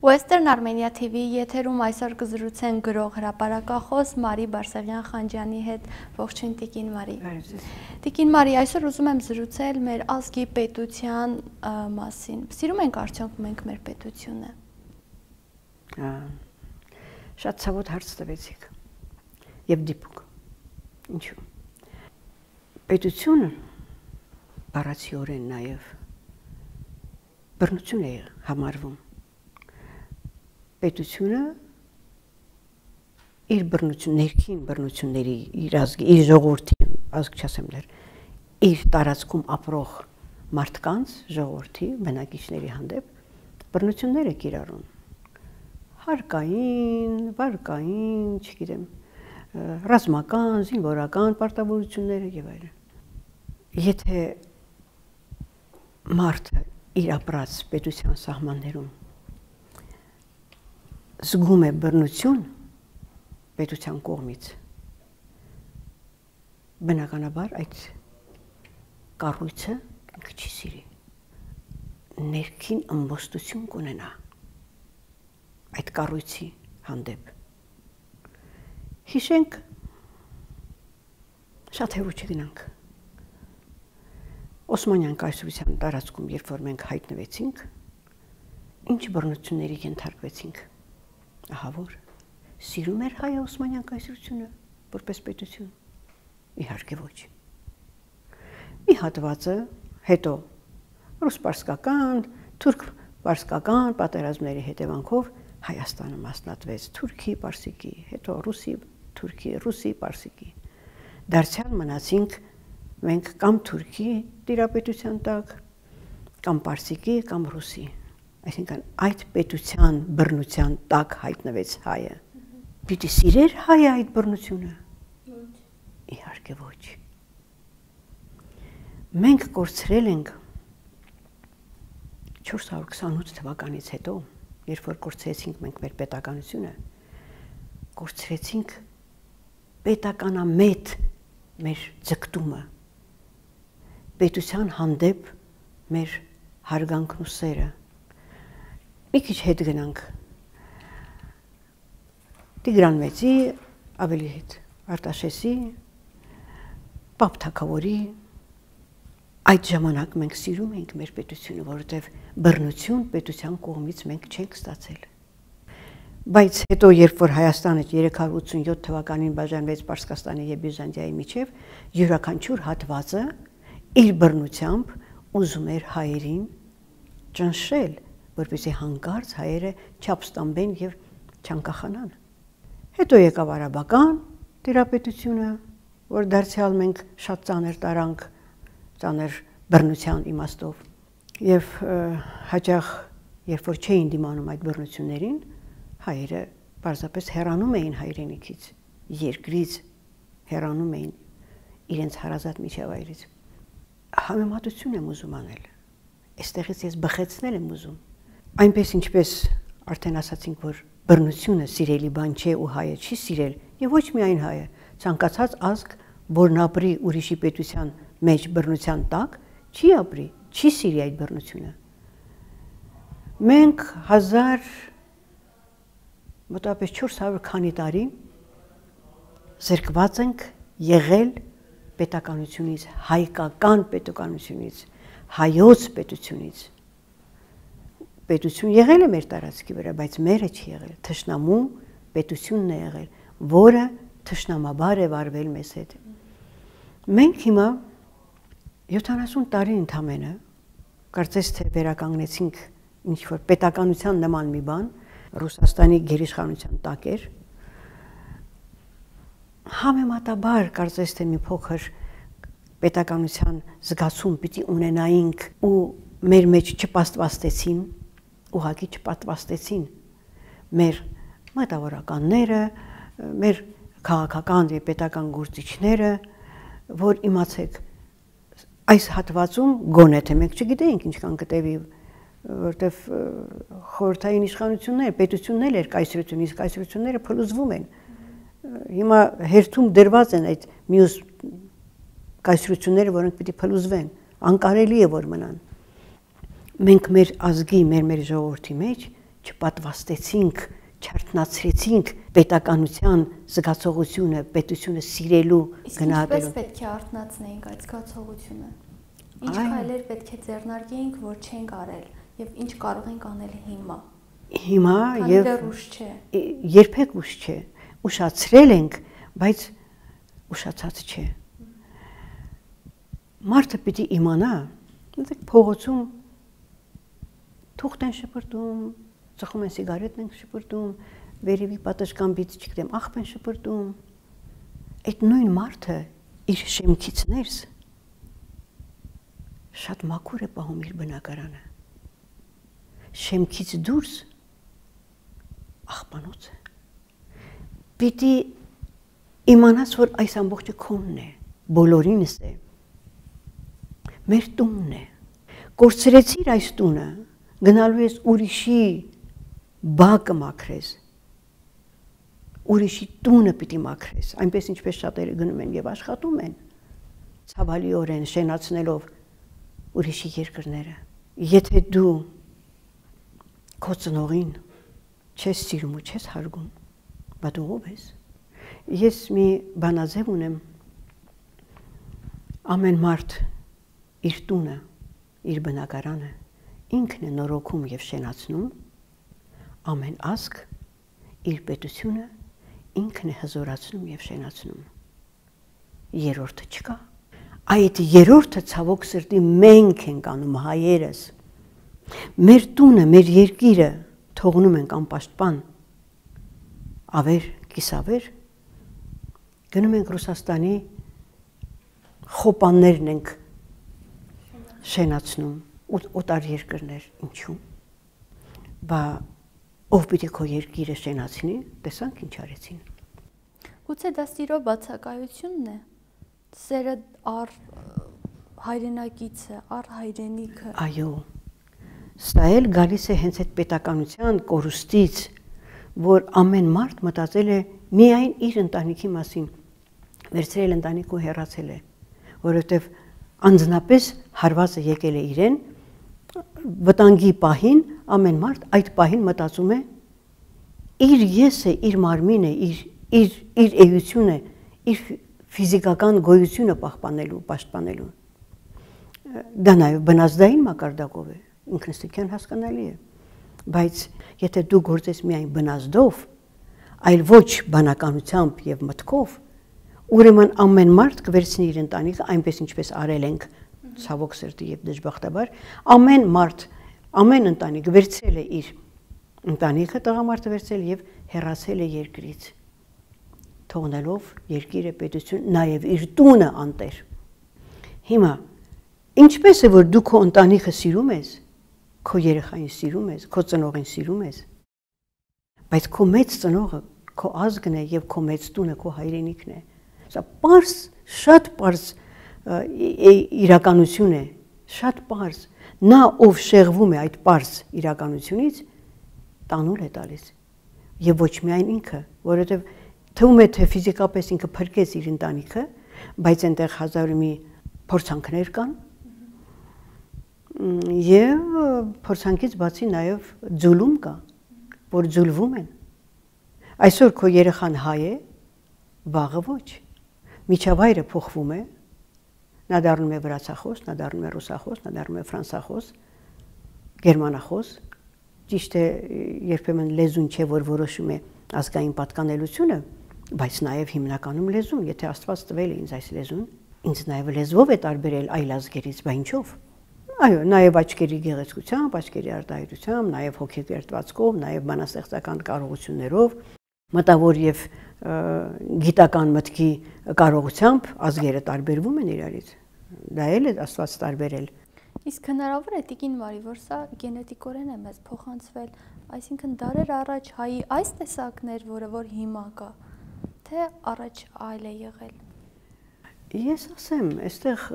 Western Armenia TV եթերում այսօր կզրուցեն գրող հրապարակախոս Մարի Բարսեղյան-Խանջյանի հետ։ Ողջույն Տիկին Մարի։ Տիկին Մարի, այսօր ուզում եմ զրուցել մեր ազգի պետության մասին։ Սիրում ենք արդյոք մենք մեր պետությունը։ Շատ ցավոտ հարց տվեցիք։ Եվ դիպուկ։ Ինչու՞։ Պետությունը բառացիորեն նաև բռնություն է համարվում։ Պետությունը իր բռնություն, ներքին բռնությունների, իր ազգի, իր ժողովրդի, ազգ չասեմ դեռ, իր տարածքում ապրող մարդկանց, ժողովրդի, բնակիչների հանդեպ բռնություններ է կիրառում։ Հարկային, վարկային, չգիտեմ, ռազմական, զինվորական պարտավորությունները եւ այլն։ Եթե մարդը իր ապրած պետության սահմաններում զգում է բռնություն պետության կողմից, բնականաբար այդ կառույցը ինքը չի սիրի, ներքին ըմբոստություն կունենա այդ կառույցի հանդեպ։ Հիշենք, շատ հեռու չգնանք, Օսմանյան կայսրության տարածքում, երբ որ մենք հայտնվեցինք, ինչ բռնությունների ենթարկվեցինք։ Ահա որ սիրում էր հայը Օսմանյան կայսրությունը որպես պետություն։ Իհարկե ոչ։ Մի հատվածը հետո ռուս-պարսկական, թուրք-պարսկական պատերազմների հետևանքով Հայաստանը մասնատվեց թուրքի-պարսիկի, հետո ռուսի-թուրքի, ռուսի-պարսիկի։ Դարձյալ մնացինք մենք կամ թուրքի տիրապետության տակ, կամ պարսիկի, կամ ռուսի։ Այսինքն այդ պետության բռնության տակ հայտնվեց հայը։ Պիտի սիրեր հայը այդ բռնությունը։ Իհարկե ոչ։ Մենք կորցրել ենք 428 թվականից հետո, երբ որ կորցրեցինք մենք մեր պետականությունը, կորցրեցինք պետականամետ մեր ձգտումը, պետության հանդեպ մեր հարգանքն ու սերը։ Մի քիչ հետ գնանք Տիգրան Մեծի, ավելի հետ Արտաշեսի, Պապ Թագավորի, այդ ժամանակ մենք սիրում ենք մեր պետությունը, որովհետև բռնություն պետության կողմից մենք չենք ստացել։ Բայց հետո, երբ որ Հայաստանը 387 թվականին բաժանվեց Պարսկաստանի եւ Բյուզանդիայի միջև, յուրաքանչյուր հատվածը իր բռնությամբ ուզում էր հայերին ճնշել, որպեսզի հանկարծ հայերը չափ ստանբեն եւ չանկախանան։ Հետո եկավ արաբական տիրապետությունը, որ դարձյալ մենք շատ ծանր տարանք, ծանր բռնության իմաստով եւ հաճախ երբ որ չէին դիմանում այդ բռնություններին, հայերը պարզապես հեռանում էին հայրենիքից, երկրից հեռանում էին իրենց հարազատ միջավայրից։ Համեմատություն եմ ուզում անել։ Այստեղից ես բխեցնել եմ ուզում։ Այնպես ինչպես արդեն ասացինք, որ բռնությունը սիրելի բան չէ ու հայը չի սիրել, եւ ոչ միայն հայը, ցանկացած ազգ, որն ապրի ուրիշի պետության մեջ բռնության տակ, չի ապրի, չի սիրի այդ բռնությունը։ Մենք 1400 քանի տարի զրկված ենք եղել պետականությունից, հայկական պետականությունից, հայոց պետությունից։ Պետություն եղել է մեր տարածքի վրա, բայց մերը չի եղել, թշնամու պետությունն է եղել, որը թշնամաբար է վարվել մեզ հետ։ Մենք հիմա 70 տարի ընդամենը, կարծես թե վերականգնեցինք ինչ-որ պետականության նման մի բան, Ռուսաստանի գերիշխանության տակ էր, համեմատաբար կարծես թե մի փոքր պետականության զգացում պիտի ունենայինք ու մեր մեջ չպաստվաստեցին, ուղղակի չպատվաստեցին մեր մտավորականները, մեր քաղաքական եւ պետական գործիչները, որ իմացեք այս հատվածում գոնե թե մենք չգիտեինք ինչքան կտևի, որտեվ խորհրդային իշխանություններ, պետություններ էր կայսրություն, իսկ կայսրությունները փլուզվում են։ Հիմա հերթում դրված են այդ մյուս կայսրությունները, որոնք պիտի փլուզվեն, անկարելի է որ մնան։ Մենք մեր ազգի, մեր ժողովրդի մեջ չպատվաստեցինք, չարթնացրեցինք պետականության զգացողությունը, պետությունը սիրելու գնահատելու։ Իսկ ինչպես պետք է արթնացնեինք այդ զգացողությունը։ Ինչ քայլեր պետք է ձեռնարկեինք, որ չենք արել, եւ ինչ կարող ենք անել հիմա։ Հիմա եւ ուշ չէ։ Երբեք ուշ չէ։ Ուշացրել ենք, բայց ուշացած չէ։ Մարդը պիտի իմանա, դուք փողոցում թուղթ են շպրտում, ծխում են սիգարետ են շպրտում, վերևի պատշգամբից չգիտեմ, աղբ են շպրտում։ Այդ նույն մարդը իր շեմքից ներս շատ մաքուր է պահում իր բնակարանը։ Շեմքից դուրս աղբանոց է։ Պիտի իմանաս, որ այս ամբողջը քոնն է, բոլորինս է, մեր տունն է։ Կորցրեցիր այս տունը, գնալու ես ուրիշի բակը մաքրես, ուրիշի տունը պիտի մաքրես, այնպես ինչպես շատերը գնում են եւ աշխատում են, ցավալիորեն շենացնելով ուրիշի երկրները։ Եթե դու քո ծնողին չես սիրում ու չես հարգում, բա դու ով ես։ Ես մի բանաձև ունեմ, ամեն մարդ իր տունը, իր բնակարանը ինքն է նորոգում եւ շենացնում, ամեն ազգ իր պետությունը ինքն է հզորացնում եւ շենացնում։ Երրորդը չկա։ Այդ երրորդը ցավոք սրտի մենք ենք անում հայերս։ Մեր տունը, մեր երկիրը թողնում ենք անպաշտպան, ավեր, կիսավեր, գնում ենք Ռուսաստանի խոպաններն ենք շենացնում, օտար երկրներ, ինչու՞։ Բա ով պիտի քո երկիրը շենացնի, տեսանք ինչ արեցին։ Գուցե դա սիրո բացակայությունն է, սերը առ հայրենակիցը, առ հայրենիքը։ Այո, սա էլ գալիս է հենց այդ պետականության կորուստից, որ ամեն մարդ մտածել է միայն իր ընտանիքի մասին, վերցրել ընտանիք ու հեռացել է, որովհետև անձնապես հարվածը եկել է իրեն, վտանգի պահին ամեն մարդ այդ պահին մտածում է իր եսը, իր մարմինը, իր էությունը, իր ֆիզիկական գոյությունը պաշտպանելու։ Դա նաև բնազդային մակարդակով է, ինքնստիկյան հասկանալի է, բայց եթե դու գործես միայն բնազդով, այլ ոչ բանականությամբ եւ մտքով, ուրեմն ամեն մարդ կվերցնի իր ընտանիքը այնպես ինչպես արել ենք ցավոք սրտի եւ դժբախտաբար, ամեն մարդ, ամեն ընտանիք վերցրել է իր ընտանիքը, տղամարդը վերցրել եւ հեռացել է երկրից, թողնելով երկիրը, պետություն, նաեւ իր տունը անտեր։ Հիմա ինչպես է որ դու քո ընտանիքը սիրում ես, քո երեխային սիրում ես, քո ծնողին սիրում ես, բայց քո մեծ ծնողը քո ազգն է եւ քո մեծ տունը քո հայրենիքն է։ Սա պարզ, շատ պարզ իրականություն է, շատ պարզ։ Նա ով շեղվում է այդ պարզ իրականությունից, տանուլ է տալիս։ Եվ ոչ միայն ինքը, որովհետև թվում է թե ֆիզիկապես ինքը փրկեց իր ընտանիքը, բայց այնտեղ հազար մի փորձանքներ կան։ Եվ փորձանքից բացի նաև ձուլում կա, որ ձուլվում են։ Այսօր քո երեխան հայ է, վաղը ոչ։ Միջավայրը փոխվում է, նա դառնում է վրացախոս, նա դառնում է ռուսախոս, նա դառնում է ֆրանսախոս, գերմանախոս։ Ճիշտ է, երբեմն լեզուն չէ, որ որոշում է ազգային պատկանելությունը, բայց նաև հիմնականում լեզուն, եթե Աստված տվել է ինձ այս լեզուն, ինձ նաև լեզվով է տարբերել այլ ազգերից, բա ինչով։ Այո, նաև աչքերի գեղեցկությամբ, աչքերի արտահայտությամբ, նաև հոգեկերտվածքով, նաև բանաստեղծական կարողություններով, մտավոր եւ գիտական մտքի կարողությամբ ազգերը տարբերվում են իրարից։ Դա էլ է Աստված տարբերել։ Իսկ հնարավոր է տիկին Մարի, որ սա գենետիկորեն է մեզ փոխանցվել, այսինքն դարեր առաջ հայի այս տեսակներ, որը որ հիմա կա, թե առաջ այլ է եղել։ Ես ասեմ, այստեղ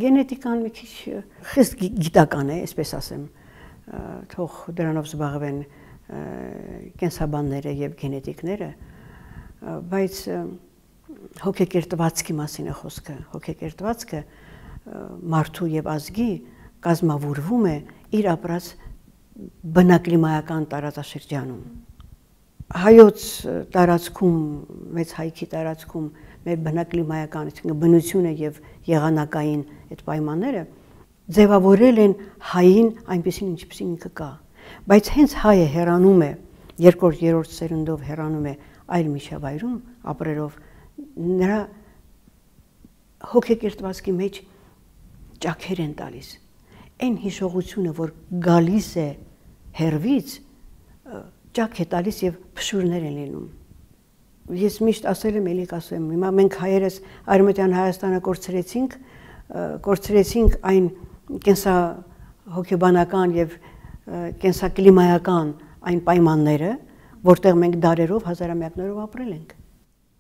գենետիկան մի քիչ խիստ գիտական է, այսպես ասեմ, թող դրանով զբաղվեն կենսաբանները եւ գենետիկները, բայց հոգեկերտվածքի մասին է խոսքը, հոգեկերտվածքը մարդու եւ ազգի կազմավորվում է իր ապրած բնակլիմայական տարածաշրջանում։ Հայոց տարածքում, մեծ հայքի տարածքում մեր բնակլիմայական, այսինքն բնությունը եւ եղանակային այդ պայմանները ձևավորել են հային այնպեսին ինչպեսին ինքը կա։ Բայց հենց հայը հեռանում է, երկրորդ, երրորդ սերնդով հեռանում է այլ միջավայրում ապրելով, նրա հոգեկերտվածքի մեջ ճաքեր են տալիս։ Այն հիշողությունը, որ գալիս է հերվից, ճաք է տալիս եւ փշուրներ են լինում։ Ես միշտ ասել եմ, ելի կասեմ, հիմա մենք հայերս Արևմտյան Հայաստանը կորցրեցինք այն կենսահոգեբանական եւ կենսակլիմայական այն պայմանները, որտեղ մենք դարերով, հազարամյակներով ապրել ենք։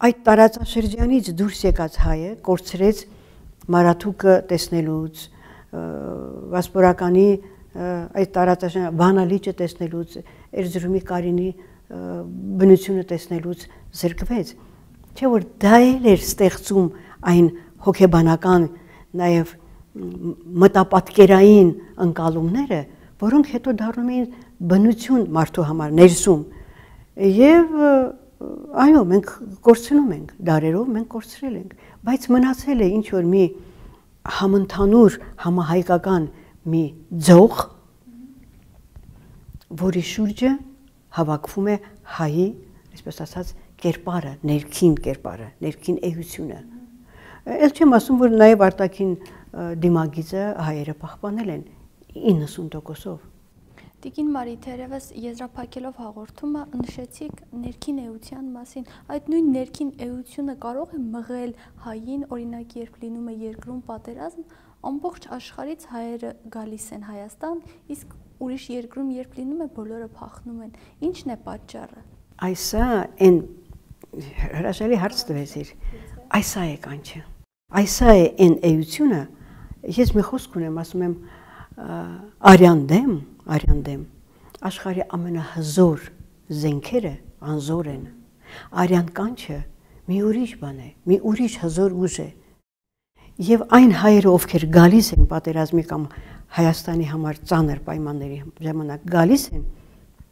Այդ տարածաշրջանից դուրս եկած հայը կորցրեց Մարաթուկը տեսնելուց, Վասպորականի այդ տարածաշրջան Վանալիճը տեսնելուց, Էրզրումի Կարինի բնությունը տեսնելուց զրկվեց, չէ՞ որ դա էր ստեղծում այն հոգեբանական, նաև մտապատկերային ընկալումները, որոնք հետո դառնում էին բնություն մարդու համար ներսում։ Եվ այո, մենք կորցնում ենք, դարերով մենք կորցրել ենք, բայց մնացել է ինչ որ մի համընդհանուր համահայկական մի ձող, որի շուրջը հավաքվում է հայի, այսպես ասած, կերպարը, ներքին էությունը։ Էլ չեմ ասում, որ նաև արտաքին դիմագիծը հայերը պահպանել են 90%-ով։ Տիկին Մարի, թերևս եզրափակելով հաղորդումը նշեցիք ներքին էության մասին։ Այդ նույն ներքին էությունը կարող է մղել հային, օրինակ, երբ լինում է երկրում պատերազմ, ամբողջ աշխարհից հայերը գալիս են Հայաստան, իսկ ուրիշ երկրում երբ լինում է, բոլորը փախնում են։ Ինչն է պատճառը։ Այսա այն հրաշալի հարց տվեցիր։ Այսա է կանչը։ Այսա է այն էությունը, ես մի խոսք ունեմ, ասում եմ արյան դեմ, աշխարհի ամենահզոր զենքերը անզոր են։ Արյան կանչը մի ուրիշ բան է, մի ուրիշ հզոր ուժ է։ Եվ այն հայերը, ովքեր գալիս են պատերազմի կամ Հայաստանի համար ծանր պայմանների ժամանակ գալիս են,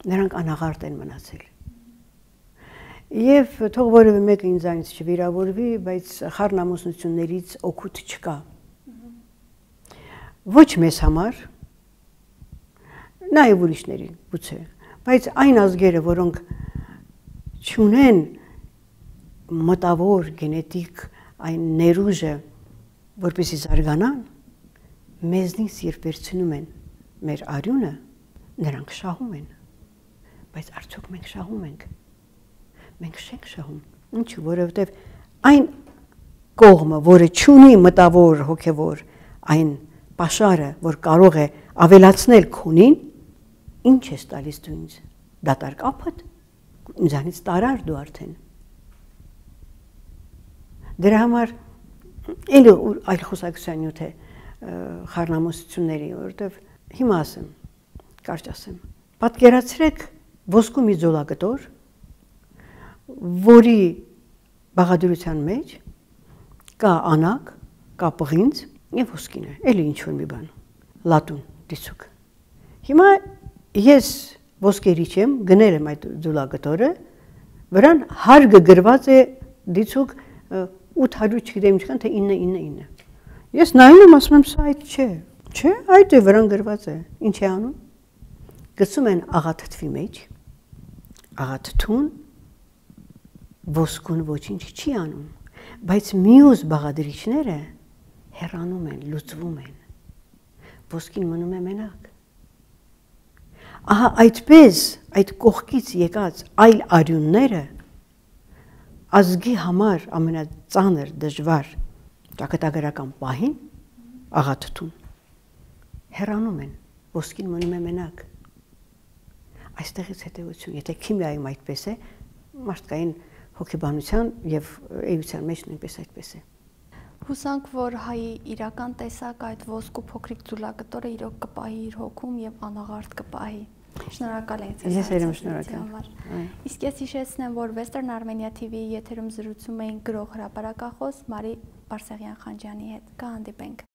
նրանք անաղարտ են մնացել։ Եվ թող որևէ մեկը ինձանից չվիրավորվի, բայց խառնամուսնություններից օգուտ չկա։ Ոչ մեզ համար, նաև ուրիշների գուցե, բայց այն ազգերը, որոնք չունեն մտավոր գենետիկ այն ներուժը, որպեսզի զարգանան, մեզնից երբ վերցնում են մեր արյունը, նրանք շահում են, բայց արդյոք մենք շահում ենք, մենք չենք շահում, ինչու, որովհետև այն կողմը, որը չունի մտավոր հոգևոր այն պաշարը, որ կարող է ավելացնել քունին, ինչ ես տալիս դու ինձ, դատարկ ափդ, ինձանից տարար դու արդեն։ Դրա համար էլի այլ խոսակցության նյութ է խառնամուսությունների, որովհետև հիմա ասեմ, կարճ ասեմ, պատկերացրեք ոսկու մի ձոլակտոր, որի բաղադրության մեջ կա անակ, կա պղինձ եւ ոսկին է, էլի ինչ որ մի բան, լատուն, դիցուկ։ Հիմա ես ոսկերիչ եմ, գնել եմ այդ ձոլակտորը, վրան հարգը գրված է դիցուկ 800 չգիտեմ ինչքան, թե 999։ Ես նայում եմ, ասում եմ, սա այդ չէ, չէ, այդ է վրան գրված է, ինչ է անում։ Գցում են աղաթթվի մեջ, աղաթթուն ոսկուն ոչինչ չի անում, բայց մյուս բաղադրիչները հեռանում են, լուծվում են, ոսկին մնում է մենակ։ Ահա այդպես այդ կողքից եկած այլ արյունները ազգի համար ամենածանր դժվար ճակատագրական պահին աղաթթուն հեռանում են, ոսկին մնում է մենակ։ Այստեղից հետևություն, եթե քիմիայում այդպես է, մարդկային հոգեբանության եւ էության մեջ նույնպես այդպես է։ Հուսանք, որ հայի իրական տեսակ այդ ոսկու փոքրիկ ձուլակտորը իրոք կպահի իր հոգում եւ անաղարտ կպահի։ Շնորհակալ եմ ձեզ։ Ես եմ շնորհակալ։ Իսկ ես հիշեցնեմ, որ Western Armenia TV-ի եթերում զրուցում էին գրող հրապարակախոս Մարի Բարսեղյան-Խանջյանի հետ։ Կհանդիպենք։